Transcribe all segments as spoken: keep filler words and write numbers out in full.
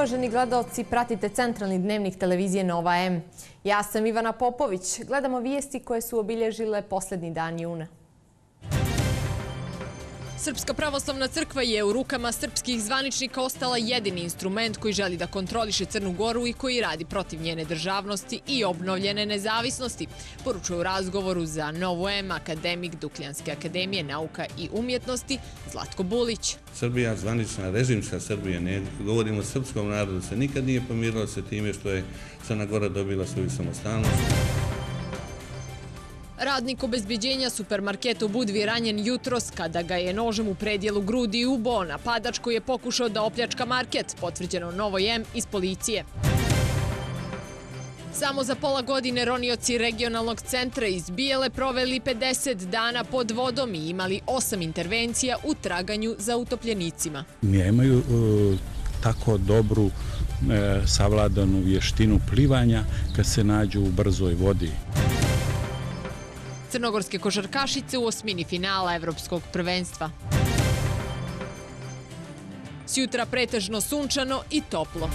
Uvaženi gledaoci, pratite centralni dnevnik televizije Nova M. Ja sam Ivana Popović. Gledamo vijesti koje su obilježile posljednji dan juna. Srpska pravoslavna crkva je u rukama srpskih zvaničnika ostala jedini instrument koji želi da kontroliše Crnu Goru i koji radi protiv njene državnosti i obnovljene nezavisnosti, poručuje u razgovoru za Novu M akademik Dukljanske akademije nauka i umjetnosti Zlatko Bulić. Srbija, zvanična režimska Srbija, ne govorimo o srpskom narodu, se nikad nije pomirila sa time što je Crna Gora dobila svoju samostalnost. Radnik obezbeđenja supermarketa u Budvi ranjen jutros kada ga je nožem u predjelu grudi ubo napadač koji je pokušao da opljačka market, potvrđeno Novoj M iz policije. Samo za pola godine ronioci regionalnog centra iz Bijele proveli pedeset dana pod vodom i imali osam intervencija u traganju za utopljenicima. Nemaju tako dobru savladanu vještinu plivanja kad se nađu u brzoj vodi. Crnogorske košarkašice u osmini finala Evropskog prvenstva. Sjutra pretežno sunčano i toplo.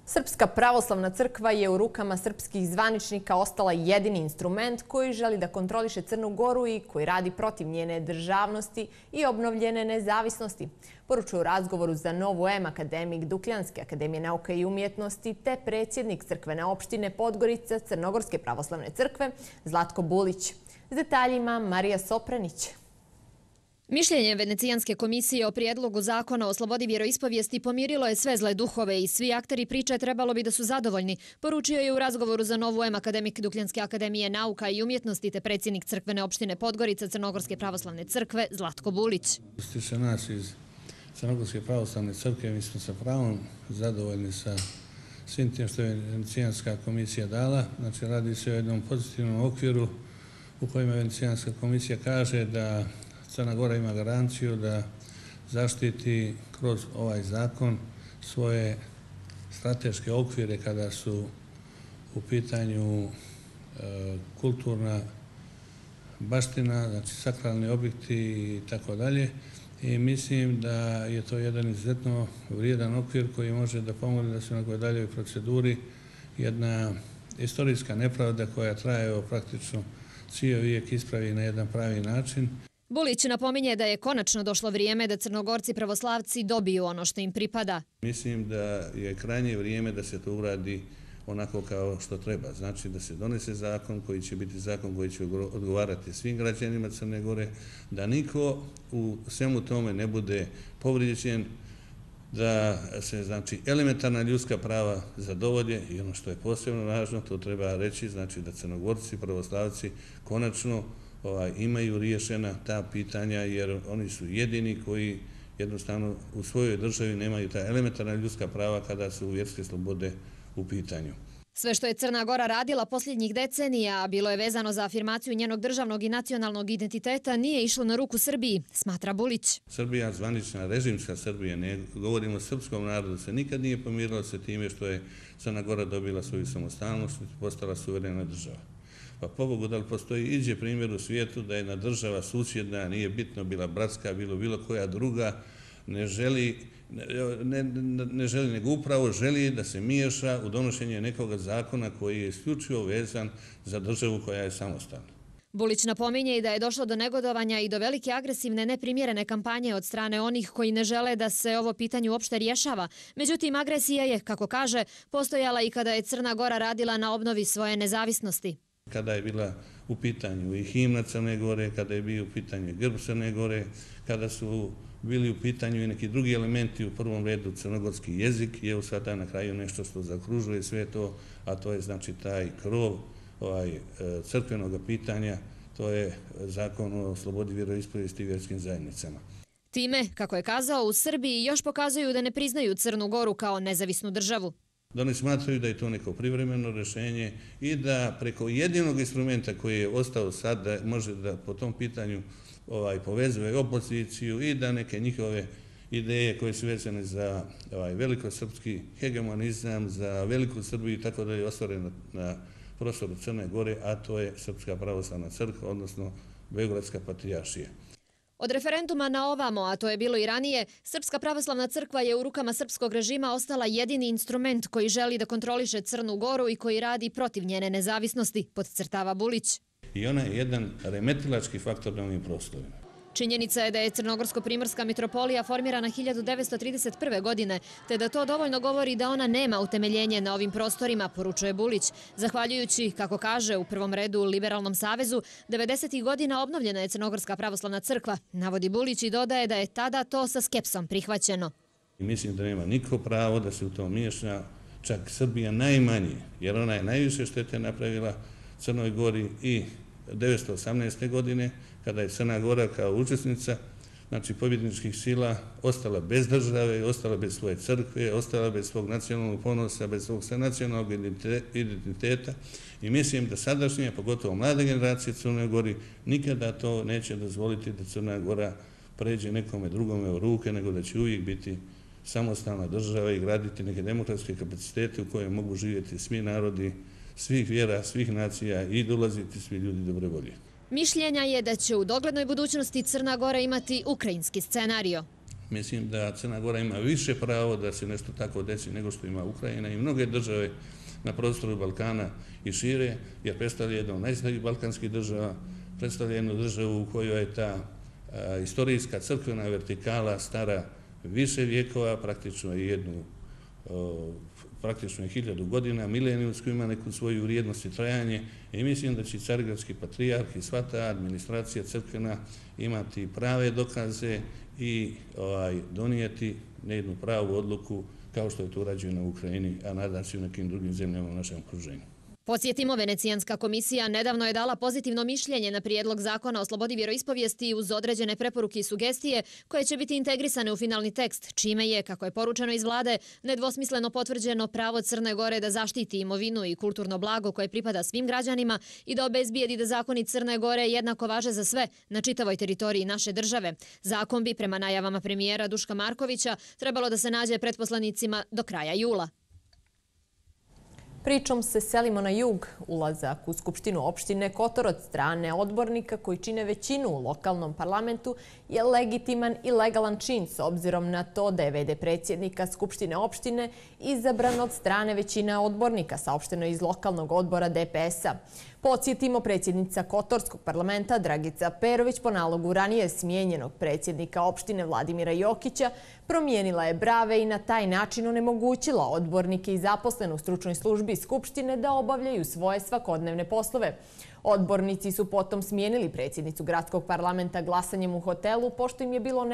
Srpska pravoslavna crkva je u rukama srpskih zvaničnika ostala jedini instrument koji želi da kontroliše Crnu Goru i koji radi protiv njene državnosti i obnovljene nezavisnosti, poručuje u razgovoru za Novu M akademik Dukljanske akademije nauka i umjetnosti te predsjednik crkvene opštine Podgorica Crnogorske pravoslavne crkve Zlatko Bulić. S detaljima Marija Sopranić. Mišljenje Venecijanske komisije o prijedlogu zakona o slobodi vjeroispovijesti pomirilo je sve zle duhove i svi akteri priče trebalo bi da su zadovoljni, poručio je u razgovoru za Novu M akademik Dukljanske akademije nauka i umjetnosti te predsjednik crkvene opštine Podgorica Crnogorske pravoslavne crkve Zlatko Bulić. Što se nas iz Crnogorske pravoslavne crkve, mi smo sa pravom zadovoljni sa svim tim što je Venecijanska komisija dala. Znači, radi se o jednom pozitivnom okviru u kojima Venecijanska komisija kaže da Crna Gora ima garanciju da zaštiti kroz ovaj zakon svoje strateške okvire kada su u pitanju kulturna baština, znači sakralni objekti i tako dalje. I mislim da je to jedan izuzetno vrijedan okvir koji može da pomogne da se u nekoj daljoj proceduri jedna istorijska nepravda koja traje praktično cijeli vijek ispravi na jedan pravi način. Bulić napominje da je konačno došlo vrijeme da Crnogorci pravoslavci dobiju ono što im pripada. Mislim da je krajnje vrijeme da se to uradi onako kao što treba. Znači da se donese zakon koji će biti zakon koji će odgovarati svim građanima Crne Gore, da niko u svemu tome ne bude povrijeđen, da se znači elementarna ljudska prava zadovolje i ono što je posebno važno, to treba reći, znači da Crnogorci pravoslavci konačno imaju riješena ta pitanja jer oni su jedini koji jednostavno u svojoj državi nemaju ta elementarna ljudska prava kada su vjerske slobode u pitanju. Sve što je Crna Gora radila posljednjih decenija, a bilo je vezano za afirmaciju njenog državnog i nacionalnog identiteta, nije išlo na ruku Srbiji, smatra Bulić. Srbija, zvanična režimska Srbija, ne govorimo o srpskom narodu, se nikad nije pomirila sa time što je Crna Gora dobila svoju samostalnost i postala suverena država. Pa pobogu da li postoji iđe primjer u svijetu da jedna država susjedna, nije bitno bila bratska, bilo bilo koja druga, ne želi, ne, ne, ne želi nego upravo želi da se miješa u donošenje nekog zakona koji je isključivo vezan za državu koja je samostalna. Bulić napominje i da je došlo do negodovanja i do velike agresivne neprimjerene kampanje od strane onih koji ne žele da se ovo pitanje uopšte rješava. Međutim, agresija je, kako kaže, postojala i kada je Crna Gora radila na obnovi svoje nezavisnosti. Kada je bila u pitanju i himna Crne Gore, kada je bio u pitanju grb Crne Gore, kada su bili u pitanju i neki drugi elementi, u prvom redu crnogorski jezik, je u sada na kraju nešto što zakružuje sve to, a to je znači taj krov ovaj, crkvenog pitanja, to je zakon o slobodi vjeroispovijesti i vjerskim zajednicama. Time, kako je kazao, u Srbiji još pokazuju da ne priznaju Crnu Goru kao nezavisnu državu. Da oni smatraju da je to neko privremeno rješenje i da preko jedinog instrumenta koji je ostao sad da može da po tom pitanju ovaj, povezuje opoziciju i da neke njihove ideje koje su vezane za ovaj, velikosrpski hegemonizam, za veliku Srbiju i tako da je ostvaren na, na prostoru Crne Gore, a to je Srpska pravoslavna crkva, odnosno Beogradska patrijaršija. Od referenduma na ovamo, a to je bilo i ranije, Srpska pravoslavna crkva je u rukama srpskog režima ostala jedini instrument koji želi da kontroliše Crnu Goru i koji radi protiv njene nezavisnosti, podcrtava Bulić. I ona je jedan remetilački faktor na ovim prostorima. Činjenica je da je Crnogorsko-primorska mitropolija formirana hiljadu devetsto trideset prve. godine, te da to dovoljno govori da ona nema utemeljenje na ovim prostorima, poručuje Bulić. Zahvaljujući, kako kaže, u prvom redu Liberalnom savezu, devedesetih godina obnovljena je Crnogorska pravoslavna crkva, navodi Bulić i dodaje da je tada to sa skepsom prihvaćeno. Mislim da nema niko pravo da se u to miješa, čak Srbija najmanje, jer ona je najviše štete napravila Crnoj Gori i devetsto osamnaeste. godine, kada je Crna Gora kao učesnica, znači pobjedničkih sila, ostala bez države, ostala bez svoje crkve, ostala bez svog nacionalnog ponosa, bez svog nacionalnog identiteta i mislim da sadašnje, pogotovo mlade generacije Crnoj Gori, nikada to neće dozvoliti da Crna Gora pređe nekome drugome u ruke, nego da će uvijek biti samostalna država i graditi neke demokratske kapacitete u koje mogu živjeti svi narodi, svih vjera, svih nacija i dolaziti svi ljudi dobre volje. Mišljenja je da će u doglednoj budućnosti Crna Gora imati ukrajinski scenario. Mislim da Crna Gora ima više pravo da se nešto tako desi nego što ima Ukrajina i mnoge države na prostoru Balkana i šire, jer predstavlja jednu od najstarijih balkanskih država, predstavlja jednu državu u kojoj je ta a, istorijska crkvena vertikala stara više vijekova, praktično je jednu o, praktično je hiljadu godina, milenijumsku ima neku svoju vrijednost i trajanje i mislim da će Carigradski patrijarh i sva ta administracija crkvena imati prave dokaze i ovaj, donijeti nejednu pravu odluku kao što je to urađeno u Ukrajini, a nadam se i u nekim drugim zemljama u našem okruženju. Podsjetimo, Venecijanska komisija nedavno je dala pozitivno mišljenje na prijedlog zakona o slobodi vjeroispovijesti uz određene preporuke i sugestije koje će biti integrisane u finalni tekst, čime je, kako je poručeno iz vlade, nedvosmisleno potvrđeno pravo Crne Gore da zaštiti imovinu i kulturno blago koje pripada svim građanima i da obezbijedi da zakoni Crne Gore jednako važe za sve na čitavoj teritoriji naše države. Zakon bi, prema najavama premijera Duška Markovića, trebalo da se nađe pred poslanicima do kraja jula. Pričom se selimo na jug. Ulazak u Skupštinu opštine Kotor od strane odbornika koji čine većinu u lokalnom parlamentu je legitiman i legalan čin s obzirom na to da je v d predsjednika Skupštine opštine izabran od strane većine odbornika, saopšteno iz lokalnog odbora D P S-a. Podsjetimo, predsjednica Kotorskog parlamenta Dragica Perović po nalogu ranije smijenjenog predsjednika opštine Vladimira Jokića promijenila je brave i na taj način onemogućila odbornike i zaposlene u stručnoj službi Skupštine da obavljaju svoje svakodnevne poslove. Odbornici su potom smijenili predsjednicu gradskog parlamenta glasanjem u hotelu pošto im je bilo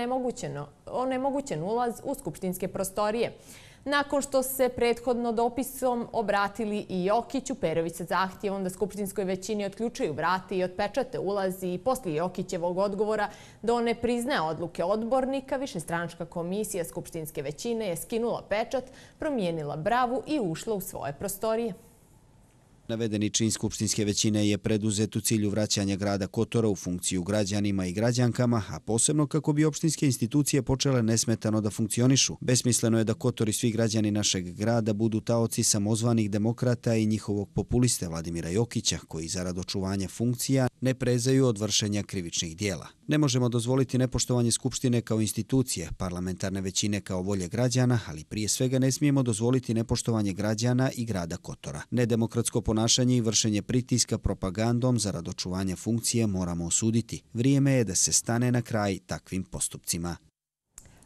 onemogućen ulaz u skupštinske prostorije. Nakon što se prethodno dopisom obratili i Jokiću, Perović sa zahtjevom da skupštinskoj većini otključaju vrata i otpečate ulazi i poslije Jokićevog odgovora da on ne priznaje odluke odbornika, višestranačka komisija skupštinske većine je skinula pečat, promijenila bravu i ušla u svoje prostorije. Navedeni čin skupštinske većine je preduzet u cilju vraćanja grada Kotora u funkciju građanima i građankama, a posebno kako bi opštinske institucije počele nesmetano da funkcionišu. Besmisleno je da Kotor i svi građani našeg grada budu taoci samozvanih demokrata i njihovog populiste Vladimira Jokića, koji zarad očuvanja funkcija ne prezaju od vršenja krivičnih dijela. Ne možemo dozvoliti nepoštovanje Skupštine kao institucije, parlamentarne većine kao volje građana, ali prije svega ne smijemo dozvoliti nepoštovanje građana i grada Kotora. Nedemokratsko ponašanje i vršenje pritiska propagandom zarad očuvanja funkcije moramo osuditi. Vrijeme je da se stane na kraj takvim postupcima.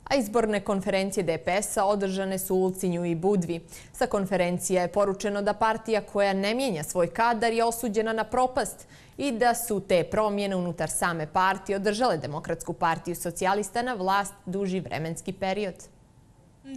A izborne konferencije D P S-a održane su u Ulcinju i Budvi. Sa konferencija je poručeno da partija koja ne mijenja svoj kadar je osuđena na propast i da su te promjene unutar same partije održale Demokratsku partiju socijalista na vlast duži vremenski period.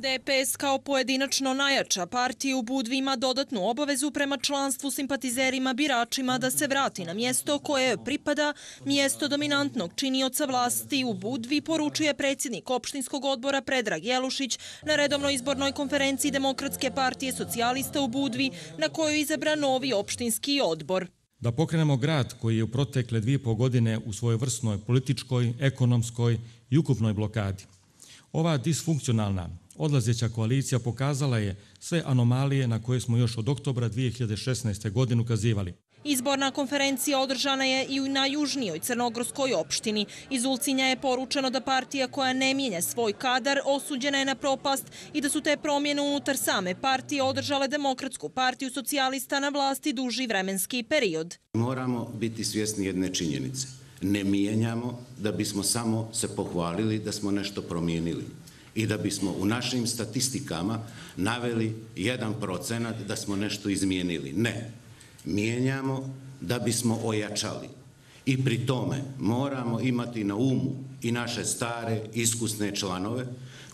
D P S kao pojedinačno najjača partija u Budvi ima dodatnu obavezu prema članstvu simpatizerima biračima da se vrati na mjesto koje pripada, mjesto dominantnog činioca vlasti u Budvi, poručuje predsjednik opštinskog odbora Predrag Jelušić na redovnoj izbornoj konferenciji Demokratske partije socijalista u Budvi, na kojoj je izabran novi opštinski odbor. Da pokrenemo grad koji je u protekle dvije i pol godine u svojoj vrsnoj političkoj, ekonomskoj i ukupnoj blokadi. Ova disfunkcionalna odlazeća koalicija pokazala je sve anomalije na koje smo još od oktobra dvije hiljade šesnaeste. godine ukazivali. Izborna konferencija održana je i na južnijoj crnogorskoj opštini. Iz Ulcinja je poručeno da partija koja ne mijenja svoj kadar osuđena je na propast i da su te promjene unutar same partije održale Demokratsku partiju socijalista na vlasti duži vremenski period. Moramo biti svjesni jedne činjenice. Ne mijenjamo da bismo samo se pohvalili da smo nešto promijenili i da bismo u našim statistikama naveli jedan procenat da smo nešto izmijenili. Ne. Mijenjamo da bismo ojačali i pri tome moramo imati na umu i naše stare, iskusne članove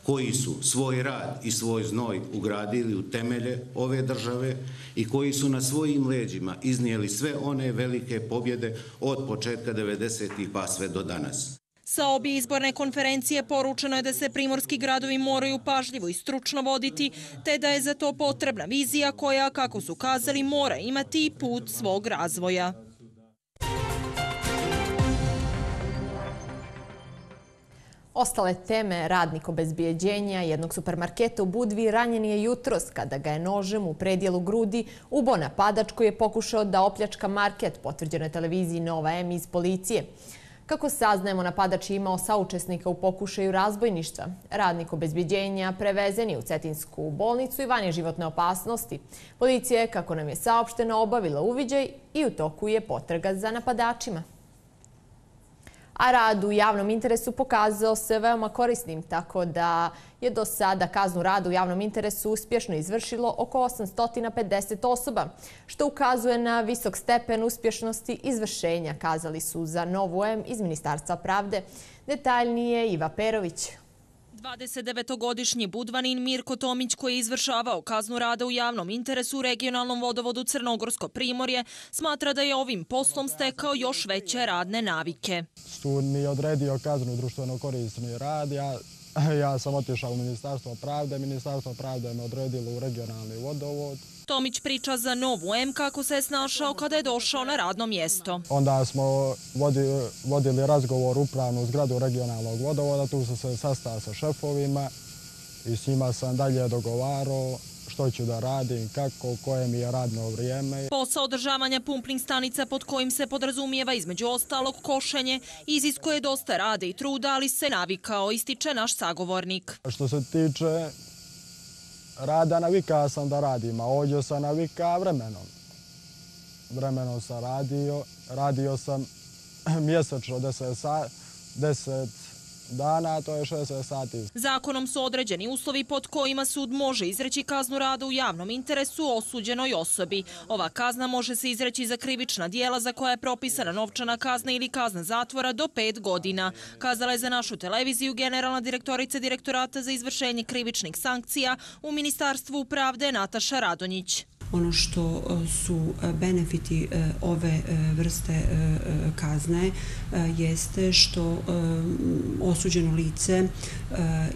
koji su svoj rad i svoj znoj ugradili u temelje ove države i koji su na svojim leđima iznijeli sve one velike pobjede od početka devedesetih pa sve do danas. Sa obje izborne konferencije poručeno je da se primorski gradovi moraju pažljivo i stručno voditi, te da je za to potrebna vizija koja, kako su kazali, mora imati put svog razvoja. Ostale teme, radnik obezbijeđenja jednog supermarketa u Budvi ranjen je jutros kada ga je nožem u predjelu grudi ubo napadač koji je pokušao da opljačka market, potvrđeno je televiziji Nova M iz policije. Kako saznajemo, napadač je imao saučesnika u pokušaju razbojništva. Radnik obezbijeđenja prevezen je u Cetinsku bolnicu i van je životne opasnosti. Policija je, kako nam je saopšteno, obavila uviđaj i u toku je potraga za napadačima. A rad u javnom interesu pokazao se veoma korisnim, tako da je do sada kaznu rada u javnom interesu uspješno izvršilo oko osamsto pedeset osoba, što ukazuje na visok stepen uspješnosti izvršenja, kazali su za Novu M iz Ministarstva pravde. Detaljnije Iva Perović. dvadesetdevetogodišnji Budvanin Mirko Tomić, koji je izvršavao kaznu rada u javnom interesu u regionalnom vodovodu Crnogorsko Primorje, smatra da je ovim poslom stekao još veće radne navike. Sud mi je odredio kaznu društveno korisni rad. Ja, ja sam otišao u Ministarstvo pravde. Ministarstvo pravde me odredilo u regionalni vodovod. Tomić priča za Novu M kako se je snašao kada je došao na radno mjesto. Onda smo vodili, vodili razgovor upravnu zgradu regionalnog vodovoda. Tu sam se sastao sa šefovima i s njima sam dalje dogovarao što ću da radim, kako, koje mi je radno vrijeme. Posao održavanja pumping stanica pod kojim se podrazumijeva između ostalog košenje iziskuje dosta rada i truda, ali se navikao, ističe naš sagovornik. Što se tiče rada, navikao sam da radim, a ovdje sam navikao vremenom. Vremenom sam radio, radio sam mjesečno deset dana, to je šezdeset sati. Zakonom su određeni uslovi pod kojima sud može izreći kaznu rada u javnom interesu osuđenoj osobi. Ova kazna može se izreći za krivična dijela za koja je propisana novčana kazna ili kazna zatvora do pet godina. Kazala je za našu televiziju generalna direktorica Direktorata za izvršenje krivičnih sankcija u Ministarstvu pravde Nataša Radonjić. Ono što su benefiti ove vrste kazne jeste što osuđeno lice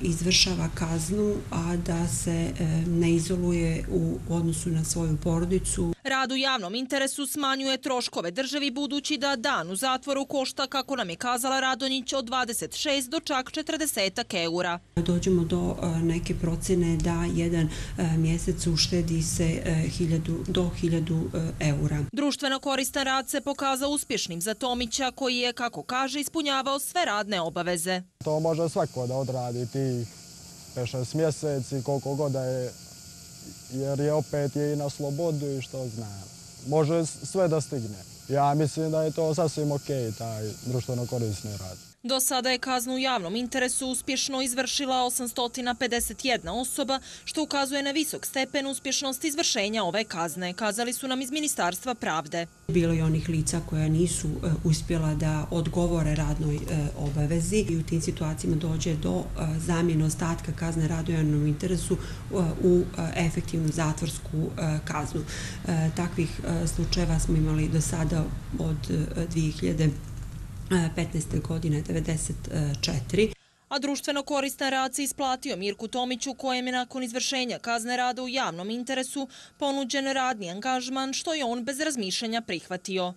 izvršava kaznu, a da se ne izoluje u odnosu na svoju porodicu. Rad u javnom interesu smanjuje troškove državi budući da dan u zatvoru košta, kako nam je kazala Radonjić, od dvadeset šest do čak četrdeset eura. Dođemo do neke procene da jedan mjesec uštedi se do hiljadu eura. Društveno koristan rad se pokazao uspješnim za Tomića, koji je, kako kaže, ispunjavao sve radne obaveze. To može svako da odradi tih pet šest mjeseci, koliko god da je, jer je opet je i na slobodu i što znam. Može sve da stigne. Ja mislim da je to sasvim okej, taj društveno korisni rad. Do sada je kaznu u javnom interesu uspješno izvršila osamsto pedeset jedna osoba, što ukazuje na visok stepen uspješnosti izvršenja ove kazne, kazali su nam iz Ministarstva pravde. Bilo je onih lica koja nisu uspjela da odgovore radnoj obavezi i u tim situacijama dođe do zamjene ostatka kazne rada u javnom interesu u efektivnu zatvorsku kaznu. Takvih slučajeva smo imali do sada od dvije hiljade petnaeste. godine devedeset četiri. A društveno koristan rad se isplatio Mirku Tomiću, kojem je nakon izvršenja kazne rada u javnom interesu ponuđen radni angažman, što je on bez razmišljanja prihvatio.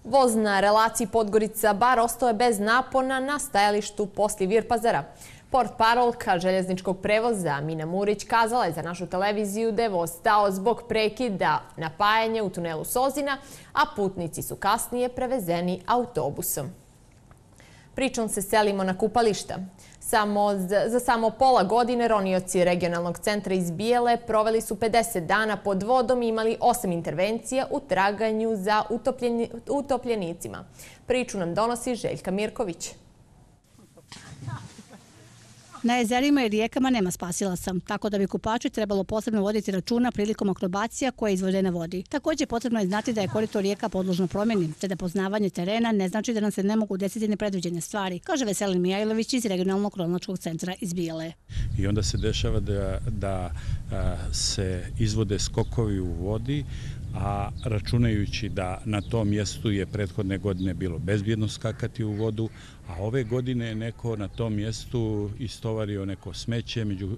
Voz na relaciji Podgorica-Bar ostao je bez napona na stajalištu poslije Virpazara. Portparolka željezničkog prevoza Mina Murić kazala je za našu televiziju da je voz stao zbog prekida napajanja u tunelu Sozina, a putnici su kasnije prevezeni autobusom. Pričom se selimo na kupališta. Samo, za samo pola godine ronioci regionalnog centra iz Bijele proveli su pedeset dana pod vodom i imali osam intervencija u traganju za utopljeni, utopljenicima. Priču nam donosi Željka Mirković. Na jezerima i rijekama nema spasilaca, tako da bi kupači trebalo posebno voditi računa prilikom akrobacija koje izvode na vodi. Također potrebno je znati da je korito rijeka podložno promjeni, te da poznavanje terena ne znači da nam se ne mogu desiti nepredviđene stvari, kaže Veselin Mijajlović iz regionalnog kronološkog centra iz Bijele. I onda se dešava da, da a, se izvode skokovi u vodi, a računajući da na tom mjestu je prethodne godine bilo bezbjedno skakati u vodu, a ove godine je neko na tom mjestu istovario neko smeće među e,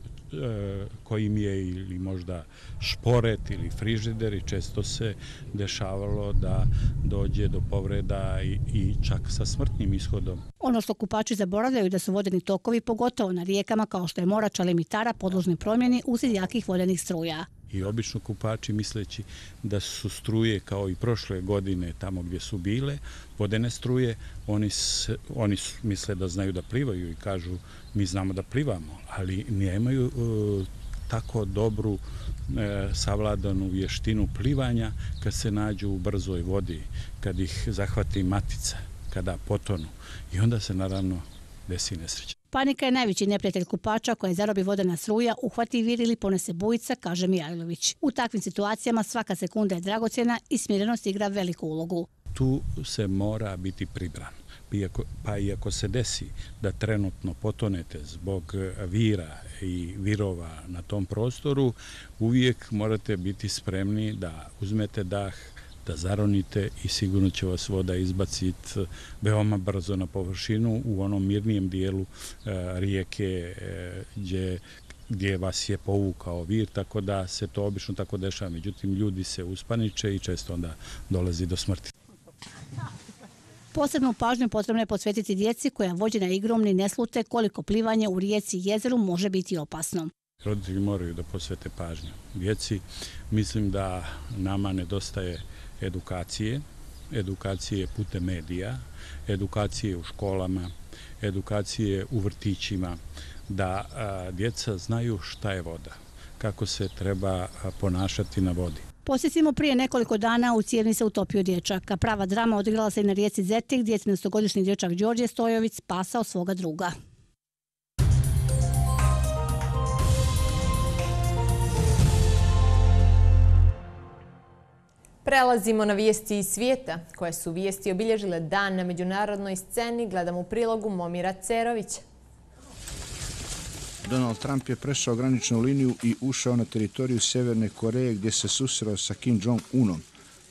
kojim je ili možda šporet ili frižider i često se dešavalo da dođe do povreda i, i čak sa smrtnim ishodom. Ono što kupači zaboravljaju da su vodeni tokovi, pogotovo na rijekama kao što je Morača ili Mitara, podložni promjeni uslijed jakih vodenih struja. I obično kupači, misleći da su struje kao i prošle godine tamo gdje su bile, vodene struje, oni, se, oni misle da znaju da plivaju i kažu mi znamo da plivamo, ali nemaju e, tako dobru e, savladanu vještinu plivanja kad se nađu u brzoj vodi, kad ih zahvati matica, kada potonu i onda se naravno desi nesreća. Panika je najveći neprijatelj kupača koje zarobi vodena struja, uhvati vir ili ponese bujica, kaže Mijajlović. U takvim situacijama svaka sekunda je dragocjena i smirenost igra veliku ulogu. Tu se mora biti pribran. Pa i ako se desi da trenutno potonete zbog vira i virova na tom prostoru, uvijek morate biti spremni da uzmete dah, da zaronite i sigurno će vas voda izbaciti veoma brzo na površinu u onom mirnijem dijelu e, rijeke e, gdje, gdje vas je povukao vir, tako da se to obično tako dešava. Međutim, ljudi se uspaniče i često onda dolazi do smrti. Posebnu pažnju potrebno je posvetiti djeci koja vođena igrom ni ne slute koliko plivanje u rijeci i jezeru može biti opasno. Roditelji moraju da posvete pažnju djeci. Mislim da nama nedostaje edukacije, edukacije putem medija, edukacije u školama, edukacije u vrtićima, da a, djeca znaju šta je voda, kako se treba a, ponašati na vodi. Posjetimo prije nekoliko dana u Cijevni se utopio dječak, a prava drama odigrala se i na rijeci Zetik gdje je trinaestogodišnji dječak Đorđe Stojović spasao svoga druga. Prelazimo na vijesti iz svijeta, koje su vijesti obilježile dan na međunarodnoj sceni. Gledamo u prilogu Momira Cerovića. Donald Trump je prešao graničnu liniju i ušao na teritoriju Sjeverne Koreje gdje se susreo sa Kim Jong-unom.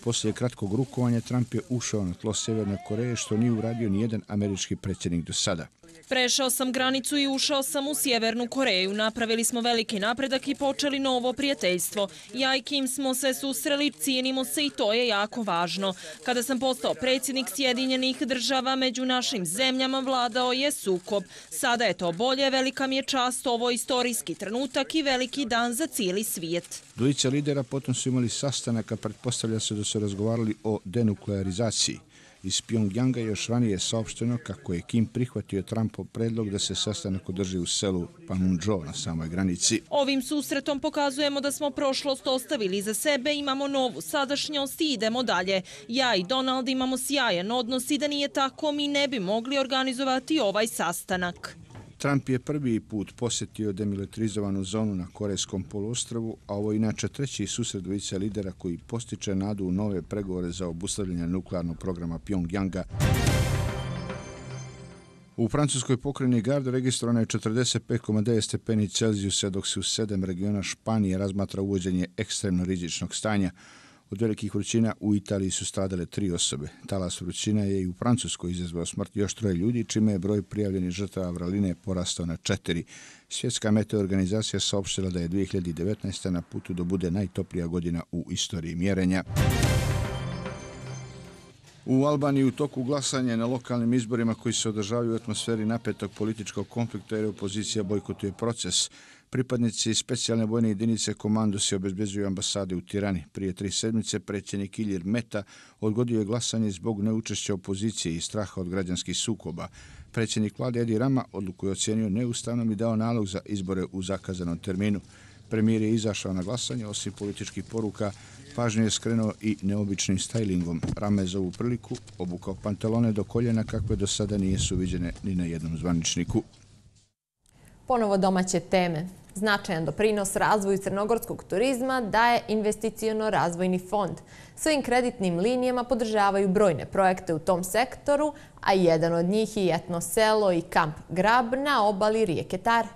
Poslije kratkog rukovanja Trump je ušao na tlo Sjeverne Koreje što nije uradio nijedan američki predsjednik do sada. Prešao sam granicu i ušao sam u Sjevernu Koreju. Napravili smo veliki napredak i počeli novo prijateljstvo. Ja i Kim smo se susreli, cijenimo se i to je jako važno. Kada sam postao predsjednik Sjedinjenih država, među našim zemljama vladao je sukob. Sada je to bolje, velika mi je čast, ovo je istorijski trenutak i veliki dan za cijeli svijet. Dvojica lidera potom su imali sastanak, a pretpostavlja se da su razgovarali o denuklearizaciji. Iz Pjongjanga još ranije je saopšteno kako je Kim prihvatio Trumpov predlog da se sastanak održi u selu Panmunjom na samoj granici. Ovim susretom pokazujemo da smo prošlost ostavili iza sebe, imamo novu sadašnjost i idemo dalje. Ja i Donald imamo sjajan odnos i da nije tako mi ne bi mogli organizovati ovaj sastanak. Trump je prvi put posjetio demilitarizovanu zonu na Korejskom poluostrvu, a ovo je inače treći susret dvojice lidera koji postiče nadu u nove pregovore za obustavljanje nuklearnog programa Pjongjanga. U francuskoj pokrajini Gard registrovano je četrdeset pet zarez devet stepeni Celzijusa, dok se u sedam regiona Španije razmatra uvođenje ekstremno rizičnog stanja. Od velikih vrućina u Italiji su stradale tri osobe. Talas vrućina je i u Francuskoj izazvao smrt još troje ljudi, čime je broj prijavljenih žrtava vraline porastao na četiri. Svjetska meteorganizacija saopštila da je dvije hiljade devetnaesta. na putu da bude najtoplija godina u istoriji mjerenja. U Albaniji u toku glasanja na lokalnim izborima koji se održavaju u atmosferi napetog političkog konflikta jer opozicija bojkotuje proces. Pripadnici specijalne vojne jedinice Komandosi obezbeđuju ambasade u Tirani. Prije tri sedmice predsjednik Ilir Meta odgodio je glasanje zbog neučešća opozicije i straha od građanskih sukoba. Predsjednik vlade Edi Rama odluku je ocijenio neustavnom i dao nalog za izbore u zakazanom terminu. Premijer je izašao na glasanje, osim političkih poruka, pažnju je skrenuo i neobičnim stajlingom. Rama je za ovu priliku obukao pantalone do koljena kakve do sada nisu viđene ni na jednom zvaničniku. Ponovo domaće teme. Značajan doprinos razvoju crnogorskog turizma daje investiciono-razvojni fond. Svojim kreditnim linijama podržavaju brojne projekte u tom sektoru, a jedan od njih je etno selo i kamp Grab na obali rijeke Tare.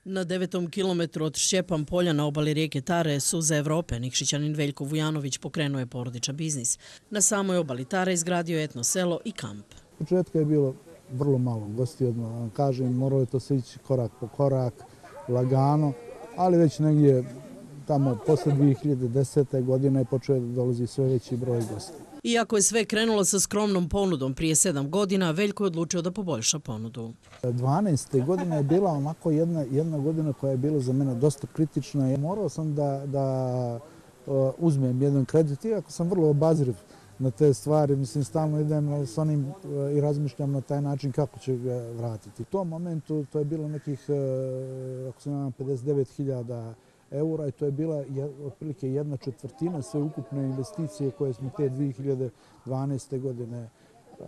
Na devetom kilometru od Šćepan polja na obali rijeke Tare, suze Evrope, Nikšićanin Veljko Vujanović pokrenuo je porodičan biznis. Na samoj obali Tare izgradio etno selo i kamp. U početku je bilo vrlo malo gostiju, odmah kažem, moralo je to se ići korak po korak, lagano, ali već negdje tamo posle dvije hiljade desete. godine je počeo da dolazi sve veći broj gostiju. Iako je sve krenulo sa skromnom ponudom prije sedam godina, Veljko je odlučio da poboljša ponudu. dvanaeste. godina je bila onako jedna, jedna godina koja je bila za mene dosta kritična. Morao sam da, da uh, uzmem jedan kredit, iako sam vrlo obazriv na te stvari. Mislim, stalno idem s onim uh, i razmišljam na taj način kako ću ga vratiti. U tom momentu to je bilo nekih, uh, ako se ne znam, pedeset devet hiljada eura i to je bila otprilike jedna četvrtina sve ukupne investicije koje smo te dvije hiljade dvanaeste. godine uh,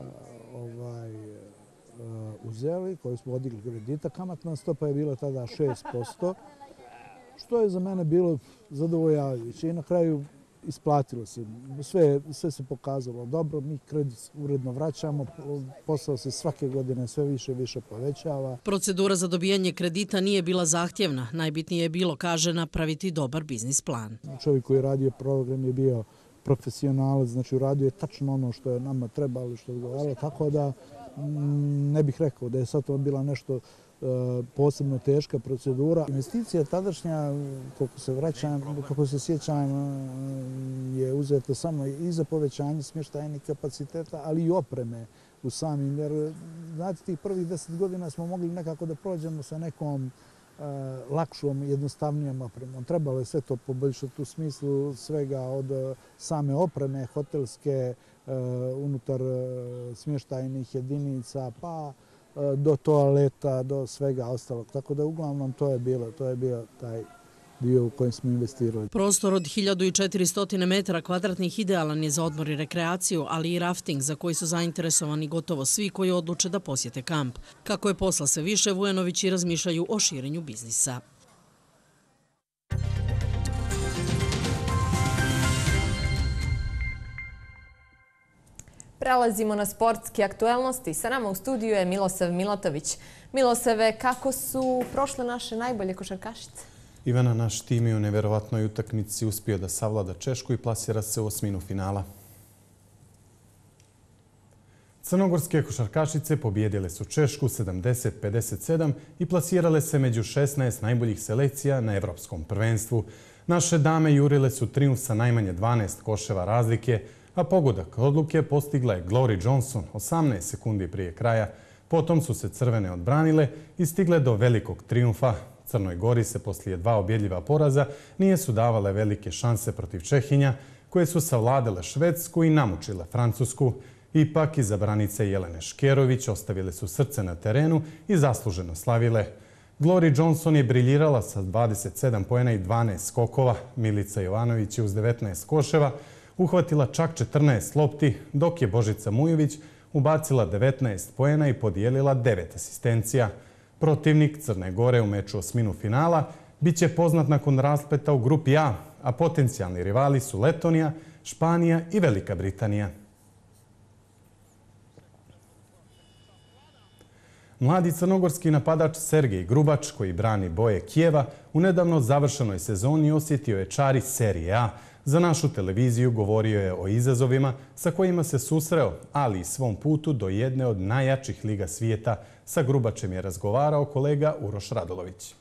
ovaj, uh, uzeli, koje smo odigli kredita. Kamatna stopa je bila tada šest posto, što je za mene bilo zadovoljavajuće i na kraju isplatilo se. Sve, sve se pokazalo dobro, mi kredit uredno vraćamo, posao se svake godine sve više i više povećava. Procedura za dobijanje kredita nije bila zahtjevna. Najbitnije je bilo, kaže, napraviti dobar biznis plan. Čovjek koji je radio program je bio profesionalac, znači uradio je tačno ono što je nama trebalo, što je odgovaralo, tako da ne bih rekao da je sad to bila nešto posebno teška procedura. Investicija tadašnja, koliko se vraćam, kako se sjećam, je uzeta samo i za povećanje smještajnih kapaciteta, ali i opreme u samim. Jer, znate, tih prvih deset godina smo mogli nekako da prođemo sa nekom lakšom, jednostavnijom opremom. Trebalo je sve to poboljšati u smislu svega od same opreme, hotelske, unutar smještajnih jedinica, pa do toaleta, do svega ostalog. Tako da uglavnom to je bilo, to je bio taj dio u kojem smo investirali. Prostor od hiljadu četiristo metara kvadratnih idealan je za odmor i rekreaciju, ali i rafting za koji su zainteresovani gotovo svi koji odluče da posjete kamp. Kako je posla sve više, Vujanovići razmišljaju o širenju biznisa. Prelazimo na sportske aktuelnosti. Sa nama u studiju je Milosav Milatović. Milosave, kako su prošle naše najbolje košarkašice? Ivana, naš tim je u neverovatnoj utakmici uspio da savlada Češku i plasira se u osminu finala. Crnogorske košarkašice pobijedile su Češku sedamdeset pedeset sedam i plasirale se među šesnaest najboljih selekcija na Evropskom prvenstvu. Naše dame jurile su trijumf sa najmanje dvanaest koševa razlike, a pogodak odluke postigla je Glory Johnson osamnaest sekundi prije kraja. Potom su se crvene odbranile i stigle do velikog trijumfa. Crnoj Gori se poslije dva objedljiva poraza nije su davale velike šanse protiv Čehinja, koje su savladale Švedsku i namučile Francusku. Ipak iza branice Jelene Škerović ostavile su srce na terenu i zasluženo slavile. Glory Johnson je briljirala sa dvadeset sedam poena i dvanaest skokova. Milica Jovanović je uz devetnaest koševa uhvatila čak četrnaest lopti, dok je Božica Mujović ubacila devetnaest poena i podijelila devet asistencija. Protivnik Crne Gore u meču osminu finala biće poznat nakon raspleta u grupi A, a potencijalni rivali su Letonija, Španija i Velika Britanija. Mladi crnogorski napadač Sergej Grubač, koji brani boje Kijeva, u nedavno završenoj sezoni osjetio je čari Serije A. Za našu televiziju govorio je o izazovima sa kojima se susreo, ali i svom putu do jedne od najjačih liga svijeta. Sa Grubačem je razgovarao kolega Uroš Radulović.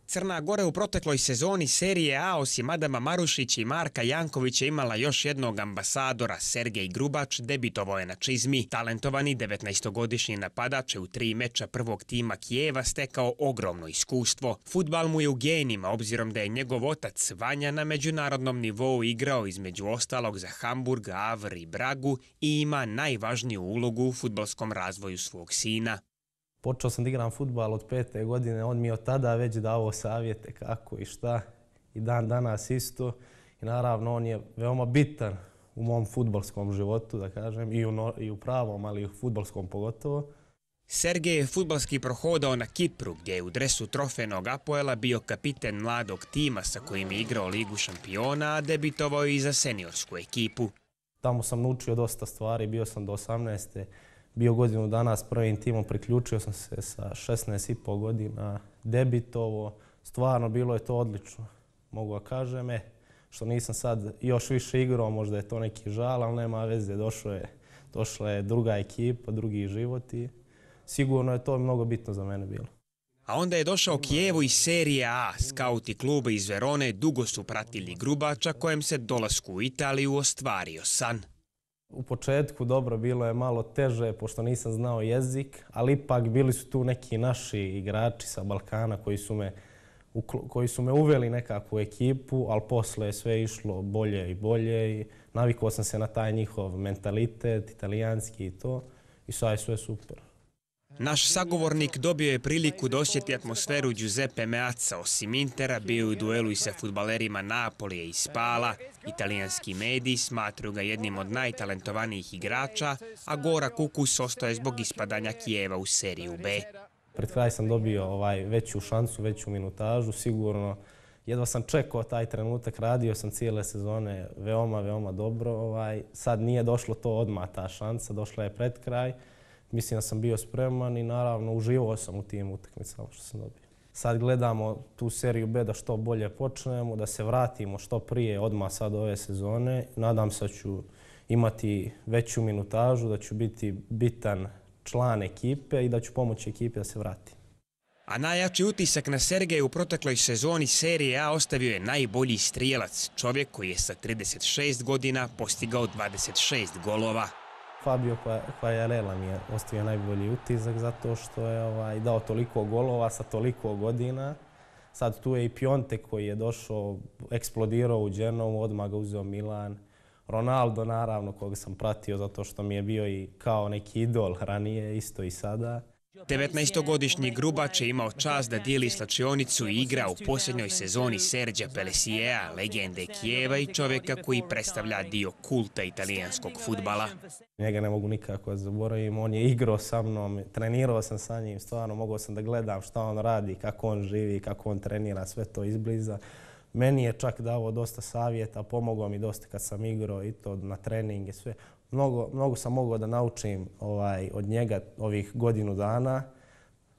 Crna Gora u protekloj sezoni serije A osim Adama Marušića i Marka Jankovića imala još jednog ambasadora. Sergej Grubač debitovao je na čizmi. Talentovani devetnaestogodišnji napadač je u tri meča prvog tima Kijeva stekao ogromno iskustvo. Fudbal mu je u genima, obzirom da je njegov otac Vanja na međunarodnom nivou igrao između ostalog za Hamburg, Avr i Bragu i ima najvažniju ulogu u fudbalskom razvoju svog sina. Počeo sam da igram fudbal od pete godine, on mi je od tada već dao savjete kako i šta i dan danas isto. I naravno on je veoma bitan u mom fudbalskom životu, da kažem, i u, no, i u pravom, ali i u fudbalskom pogotovo. Sergej je fudbalski prohodao na Kipru, gdje je u dresu trofejnog Apoela bio kapiten mladog tima sa kojim je igrao Ligu šampiona, a debitovao i za seniorsku ekipu. Tamo sam naučio dosta stvari, bio sam do osamnaeste. Bio godinu dana s prvim timom, priključio sam se sa šesnaest i pol godina, debitovo. Stvarno bilo je to odlično, mogu da kažem. E, što nisam sad još više igrao, možda je to neki žal, ali nema veze, došlo je, došla je druga ekipa, drugi život i sigurno je to mnogo bitno za mene bilo. A onda je došao Kijevu iz serije A. Skauti kluba iz Verone dugo su pratili Grubača, kojem se dolasku u Italiju ostvario san. U početku dobro, bilo je malo teže pošto nisam znao jezik, ali ipak bili su tu neki naši igrači sa Balkana koji su me, koji su me uveli nekako u ekipu, ali posle je sve išlo bolje i bolje i navikao sam se na taj njihov mentalitet, italijanski i to i sad je sve super. Naš sagovornik dobio je priliku da osjeti atmosferu Giuseppe Meazza. Osim Intera bio je u duelu i sa fudbalerima Napolija i Spala. Italijanski mediji smatruju ga jednim od najtalentovanijih igrača, a Gora Kukus ostao je zbog ispadanja Kijeva u seriju B. Pred kraj sam dobio ovaj, veću šansu, veću minutažu, sigurno. Jedva sam čekao taj trenutak, radio sam cijele sezone veoma, veoma dobro. Ovaj, sad nije došlo to odmah ta šansa, došla je pred kraj. Mislim da sam bio spreman i naravno uživao sam u tim utakmicama što sam dobio. Sad gledamo tu seriju B da što bolje počnemo, da se vratimo što prije odmah sad ove sezone. Nadam se da ću imati veću minutažu, da ću biti bitan član ekipe i da ću pomoći ekipi da se vrati. A najjači utisak na Sergeja u protekloj sezoni serije A ostavio je najbolji strijelac, čovjek koji je sa trideset šest godina postigao dvadeset šest golova. Fabio Quagliarella mi je ostavio najbolji utisak zato što je ovaj, dao toliko golova sa toliko godina. Sad tu je i Piontek koji je došao, eksplodirao u Genovu, odmah ga uzeo Milan. Ronaldo naravno koga sam pratio zato što mi je bio i kao neki idol ranije, isto i sada. devetnaestogodišnji Grubač je imao čast da dijeli slačionicu i igra u posljednjoj sezoni Serđa Pelesiea, legende Kijeva i čovjeka koji predstavlja dio kulta italijanskog fudbala. Njega ne mogu nikako zaboraviti, on je igrao sa mnom, trenirao sam sa njim, stvarno mogao sam da gledam šta on radi, kako on živi, kako on trenira, sve to izbliza. Meni je čak dao dosta savjeta, pomogao mi dosta kad sam igrao i to na treninge, sve. Mnogo, mnogo sam mogao da naučim ovaj, od njega ovih godinu dana.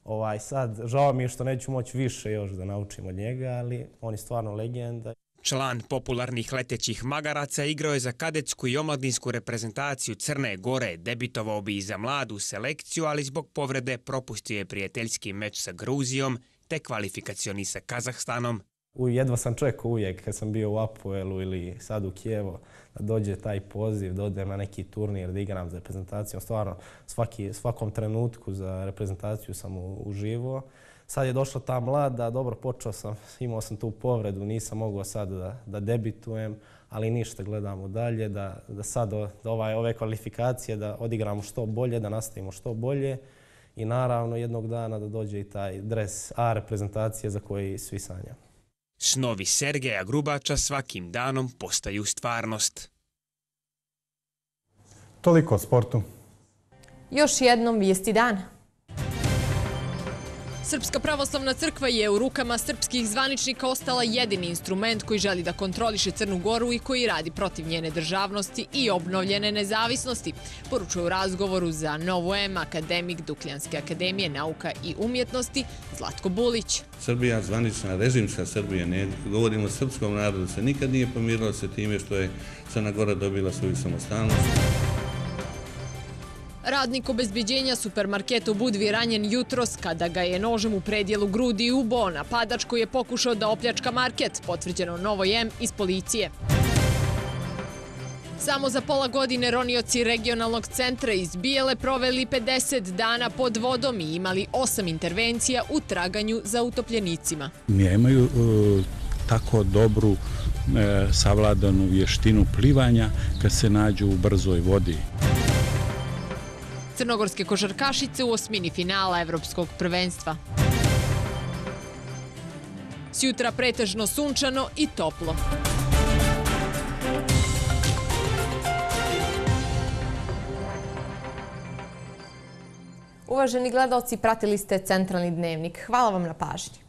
Ovaj, sad, žao mi je što neću moći više još da naučim od njega, ali on je stvarno legenda. Član popularnih letećih magaraca igrao je za kadetsku i omladinsku reprezentaciju Crne Gore. Debitovao bi i za mladu selekciju, ali zbog povrede propustio je prijateljski meč sa Gruzijom te kvalifikacioni sa Kazahstanom. Jedva sam čekao uvijek kad sam bio u Apoelu ili sad u Kijevu da dođe taj poziv, da odem na neki turnir, da igram za reprezentaciju. Stvarno, svaki, svakom trenutku za reprezentaciju sam uživao. Sad je došla ta mlada, dobro počeo sam, imao sam tu povredu, nisam mogao sad da, da debitujem, ali ništa, gledamo dalje, da, da sad da ovaj, ove kvalifikacije da odigramo što bolje, da nastavimo što bolje i naravno jednog dana da dođe i taj dres A reprezentacije za koji svi sanjamo. Snovi Sergeja Grubača svakim danom postaju stvarnost. Toliko o sportu. Još jednom vijesti dana. Srpska pravoslavna crkva je u rukama srpskih zvaničnika ostala jedini instrument koji želi da kontroliše Crnu Goru i koji radi protiv njene državnosti i obnovljene nezavisnosti, poručuje u razgovoru za Novu M akademik Dukljanske akademije nauka i umjetnosti Zlatko Bulić. Srbija, zvanična režimska Srbija, ne govorimo o srpskom narodu, se nikad nije pomirila se time što je Crna Gora dobila svoju samostalnost. Radnik obezbeđenja supermarketa u Budvi ranjen jutros kada ga je nožem u predjelu grudi ubo napadač koji je pokušao da opljačka market, potvrđeno Novoj M iz policije. Samo za pola godine ronioci regionalnog centra iz Bijele proveli pedeset dana pod vodom i imali osam intervencija u traganju za utopljenicima. Nemaju e, tako dobru e, savladanu vještinu plivanja kad se nađu u brzoj vodi. Crnogorske košarkašice u osmini finala Evropskog prvenstva. Sjutra pretežno sunčano i toplo. Uvaženi gledaoci, pratili ste Centralni dnevnik. Hvala vam na pažnji.